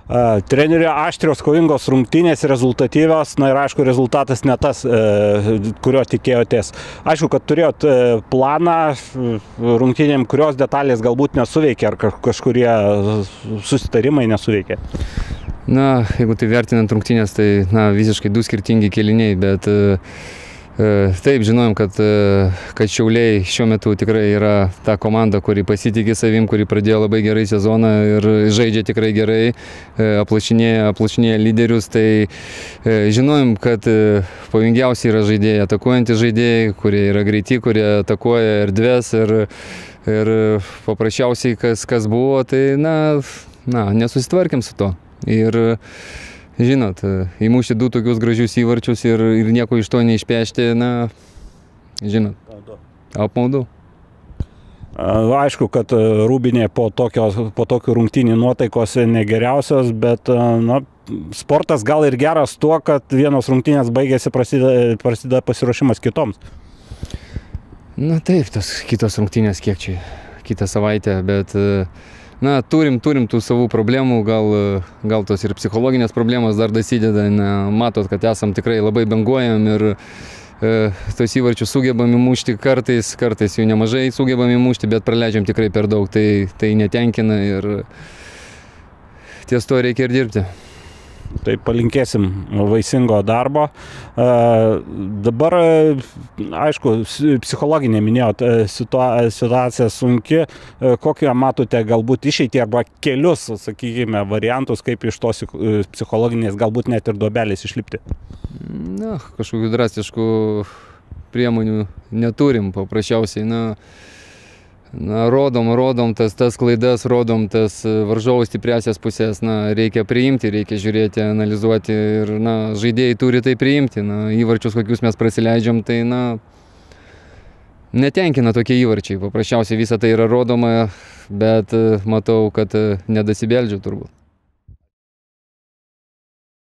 Trenerio aštrios, kovingos rungtynės, rezultatyvios, na ir aišku, rezultatas ne tas, kurio tikėjotės. Aišku, kad turėjot planą rungtynėm, kurios detalės galbūt nesuveikė, ar kažkurie susitarimai nesuveikė. Na, jeigu tai vertinant rungtynės, tai visiškai du skirtingi kėliniai, bet taip, žinojom, kad Šiauliai šiuo metu tikrai yra ta komanda, kuri pasitikė savim, kuri pradėjo labai gerai sezoną ir žaidžia tikrai gerai, aplašinėja lyderius, tai žinojom, kad pavojingiausiai yra žaidėjai, atakuojantys žaidėjai, kurie yra greiti, kurie atakuoja erdves ir paprasčiausiai kas buvo, tai nesusitvarkėm su to. Ir žinot, įmušti du tokius gražius įvarčius ir nieko iš to neišpešti, žinot, apmaudu. Aišku, kad Rūbinė po tokių rungtynių nuotaikos negeriausios, bet sportas gal ir geras tuo, kad vienos rungtynės baigėsi, prasideda pasiruošimas kitoms. Na taip, tos kitos rungtynės kiek čia, kitą savaitę, bet turim tų savų problemų, gal tos ir psichologinės problemos dar dasideda, matot, kad esam tikrai labai banguojam ir tos įvarčius sugebam įmušti kartais jų nemažai sugebam įmušti, bet praleidžiam tikrai per daug, tai netenkina ir ties to reikia ir dirbti. Tai palinkėsim vaisingo darbo. Dabar, aišku, psichologinė minėjot, situacija sunki. Kokią matote galbūt išeitį arba kelius, sakykime, variantus, kaip iš tos psichologinės galbūt net ir duobelės išlipti? Kažkokių drastiškų priemonių neturim, paprasčiausiai. Rodom tas klaidas, rodom tas varžovų stipriasias pusės, reikia priimti, reikia žiūrėti, analizuoti ir žaidėjai turi tai priimti, įvarčius, kokius mes prasileidžiam, tai netenkina tokie įvarčiai, paprasčiausiai visą tai yra rodoma, bet matau, kad nedasibeldžiu turbūt.